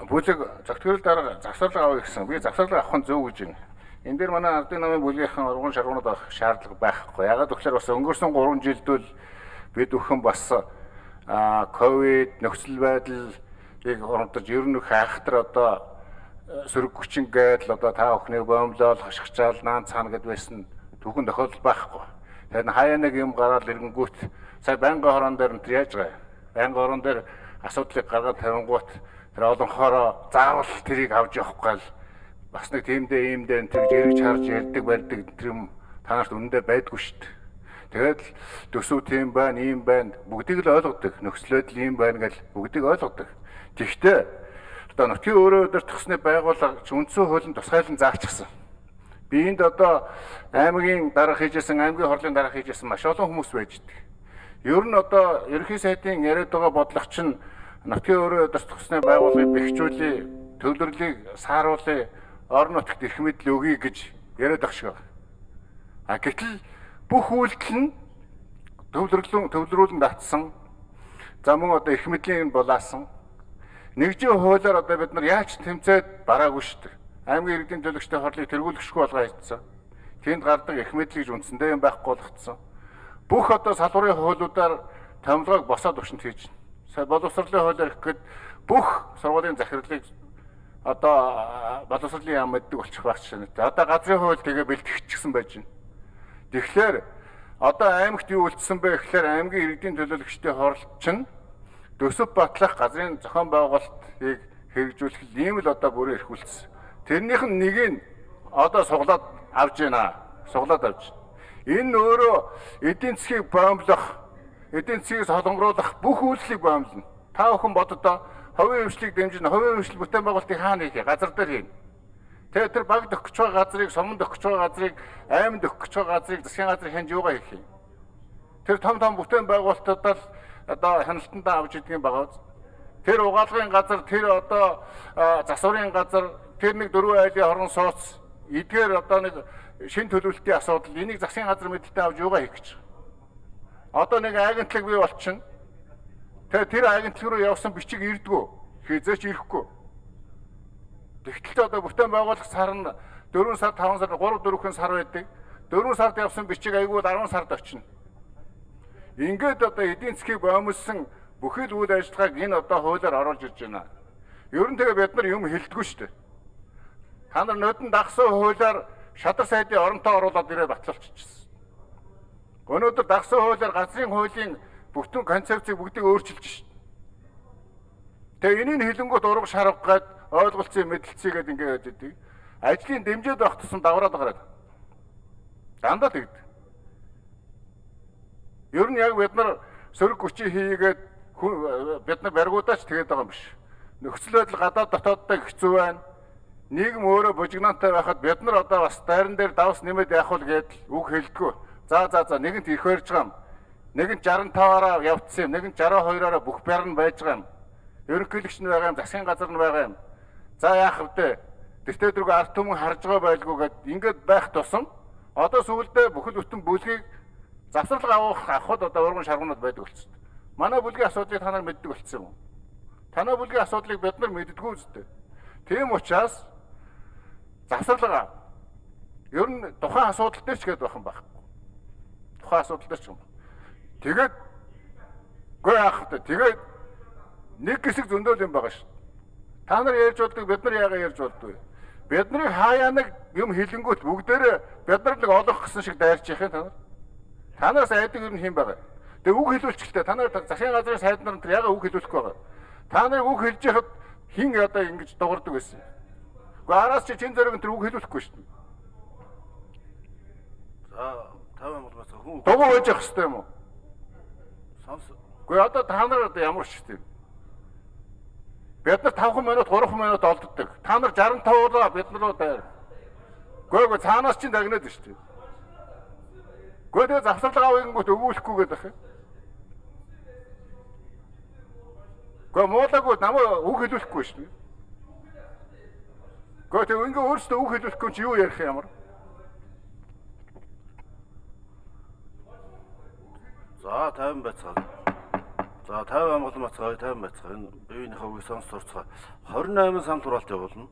Бүлэг зөвтгөрөл дарга завсарлага авъя гэсэн. Би завсарлага авах нь зөв гэж байна. Энэ дээр манай ардын намын бүлгийнхэн урган шаргуунууд авах шаардлага байхгүй. Ягаад гэвэл бас өнгөрсөн 3 жилдől бид өхөн бас ковид нөхцөл байдлыг оромтож ер нь хайхтар одоо сөрөг хүчин гэдэл одоо та бүхнийг бомблол хашгичаал наан цаана гэд байсан түүхэн тохиолдол байхгүй. Тэгэхээр хаяа нэг юм гараад ирэнгүүт сая байнгын хорон дээр нь яаж байгаа. Байнгын хорон дээр асуудлыг гаргаад тавингуут тэр олонхороо заавал тэрийг авч явахгүй л бас нэг тиймдээ иймдээ тэр жиргэж харж ярьдаг барьдаг тэр юм танаарт үнэндээ байдгүй шүү дээ. Тэгээд төсөв тийм байна, ийм байна бүгдийг л ойлгодог. Нөхцөлөд ийм байна гэж бүгдийг ойлгодог. Тэгвэл одоо нутгийн өөрөө өдөртгсөний байгууллага үндсэн хуулийн тусгайлан заалчихсан. Би энд одоо аймгийн дарга хийжсэн, аймгийн хурлын дарга хийжсэн маш олон хүмүүс байж идэг. Ер нь одоо ерөнхий сайдын яриад байгаа бодлого чинь нутгийн өөрөө өдөртгсөний байгууллагыг бэхжүүлээ, төвлөрлийг сааруулъя, орон нутагт эрх мэдэл өгье гэж яриад байгаа шиг байна. Гэтэл бүх үйлдэл нь төвлөрүүлэн татсан. За мөн одоо эрх мэдлийн булаасан. Нэгжийн хуулиар одоо бид нар яаж тэмцээд бараагүй шүү дээ. Аймгийн иргэдийн төлөөлөгчтэй хорлыг тэргүүлэхгүй болгоо хийцэн. Тэнд гардаг эрх мэдэл гэж үндсэндээ юм байхгүй болгоцсон. Бүх одоо салбарын хуулиудаар томилгоог босоод өвчнөд хийж байна. Сая боловсролын хуулиар ихэд бүх сургуулийн захирлыг одоо боловсролын яам мэддэг болчих байх жишээ. Одоо газрын хууль тэгээ бэлтгэгдчихсэн байж байна. Тэгэхээр одоо аймагт юу үлдсэн бэ гэхээр аймгийн иргэдийн төлөөлөгчтэй хорлол чинь төсөв батлах газрын зохион байгуулалтыг хэрэгжүүлэх ийм л одоо бүрэн эрхүүлсэн. Тэрнийх нь нэг нь одоо суглаад авж байна. Суглаад авж. Энэ өөрөө эдийн засгийг бомблох, эдийн засгийг солонгоруулах бүх үйлчлэгийг бомблоно. Та бүхэн боддоо хувийн хвшлийг дэмжин, хувийн хвшил бүтээн байгуулалтыг хаана хийх вэ? Газар дээр хийнэ. Тэгээд тэр багд өгч байгаа газрыг, суманд өгч байгаа газрыг, айманд өгч байгаа газрыг, засгийн газрыг хянж юугаа хийх юм? Тэр том бүтээн байгуулалтуудаа л одоо хяналтандаа авч идэх юм байгаа. Тэр угаалгын газар, тэр одоо засварын газар, тэр нэг дөрвөн айлын хорон сууц эдгээр одоо нэг шин төлөвлөлтийн асуудал энийг засгийн газар мэдэлтэй авч юугаа хийх гэж. Одоо нэг агентлаг бий болчихно. Тэгээд тэр агентлаг руу явсан бичиг ирдгүү. Хизээч ирэхгүй. Тэгтэл одоо бүтээн байгуулах сар нь 4 сар, 5 сар, 3-4 сар байдаг. 4 сард явсан бичиг айгүй 10 сард очино. Ингээд одоо эдийн засгийг бомлсон бүхэл үйл ажиллагааг энэ одоо хуулиар оруулж ирж байна. Ер нь тэгээ бид нар юм хэлдэггүй шүү дээ. Та нар нодон дагсан хуулиар шадар сайдын оронтой оруулаад ирээд батлуулчихсан. Өнөөдөр дагсан хуулиар газрын хуулийн бүтэн концепцийг бүгдийг өөрчилж шин. Тэгээ энийг хэлэнгүүт ураг шарга гээд ойлголцсон мэдлэлцгээд ингээд өгдөг. Ажлын дэмжээд байх тусам давраад гараад. Дандаа тэгдэг. Ер нь яг бид нар сөрөг хүчийг хийгээд бид нар баригуудаач тэгээд байгаа юм биш. Нөхцөл байдал гадаад дотооддоо хэцүү байна. Нийгэм өөрөө бужигнаантай байхад бид нар одоо бас дайран дээр давс нэмээд явах уу гэдэл үг хэлдэггүй. За нэгэнт их барьж байгаа юм. Нэгэнт 65-аараа явцсан юм, нэгэнт 62-аараа бүх байр нь байж байгаа юм. Ерөнхийлөгч нь байгаа юм, засгийн газар нь байгаа юм. За яах вэ? Тэртээ дөрөв ард түмэн харж байгаа байлгүй гэд ингээд байх тусам одоо сүүлдээ бүхэл бүтэн бүлгийг завсарлага авахд одоо урган шаргуунууд байдаг болчихсон. Манай бүлгийн асуудлыг та нар мэддэг болчихсон юм. Танай бүлгийн асуудлыг бид нар мэддэггүй үстэй. Тийм учраас завсарлага ер нь тухайн асуудал дээр ч гээд байх юм байхгүй. Тухайн асуудал дээр ч юм. Тэгээд гүй яах вэ? Тэгээд нэг хэсэг зөндөөл юм байгаа шүү. Та нар ярьж болдог, бид нар яагаад ярьж болдгоо? Бидний хаяа нэг юм хилэнгүүт бүгдээрээ бид нар нэг олох гэсэн шиг дайрч яах юм та нар? Танаас айдаг юм хэм байгаа. Тэгээ үг хэлүүлчихлээ. Та нар засгийн газрын сайд нар тэр яагаад үг хэлүүлэхгүй байгаа? Та нарыг үг хэлж яхад хин одоо ингэж дуурдаг байсан. Гэхдээ араас чи чин зэрэг тэр үг хэлүүлэхгүй шүү дээ. За 50 бол бас хүн дугуй байж явах хэрэгтэй юм уу? Сонс. Гэхдээ одоо та нар одоо ямар ч тийм. Бид нар 5 минут 3 минут олддог. Та нар 65-аа бид нар руу дайр. Гэхдээ цаанаас чинь дагнаад шүү дээ. Гэхдээ завсарлага авъянгууд өгүүлэхгүй гэдэг юм. Гэхдээ муулаггүй намайг үг хэлүүлэхгүй шүү дээ. Гэхдээ ингээ өөрсдөө үг хэлүүлэхгүй чи юу ярих юм ямар? За 50 байцгаа. За 50 Амгалан бацгаа 50 бацгаа энэ биеийнхээ үгийг сонс сурцгаа 28 сан тураалт явуулна.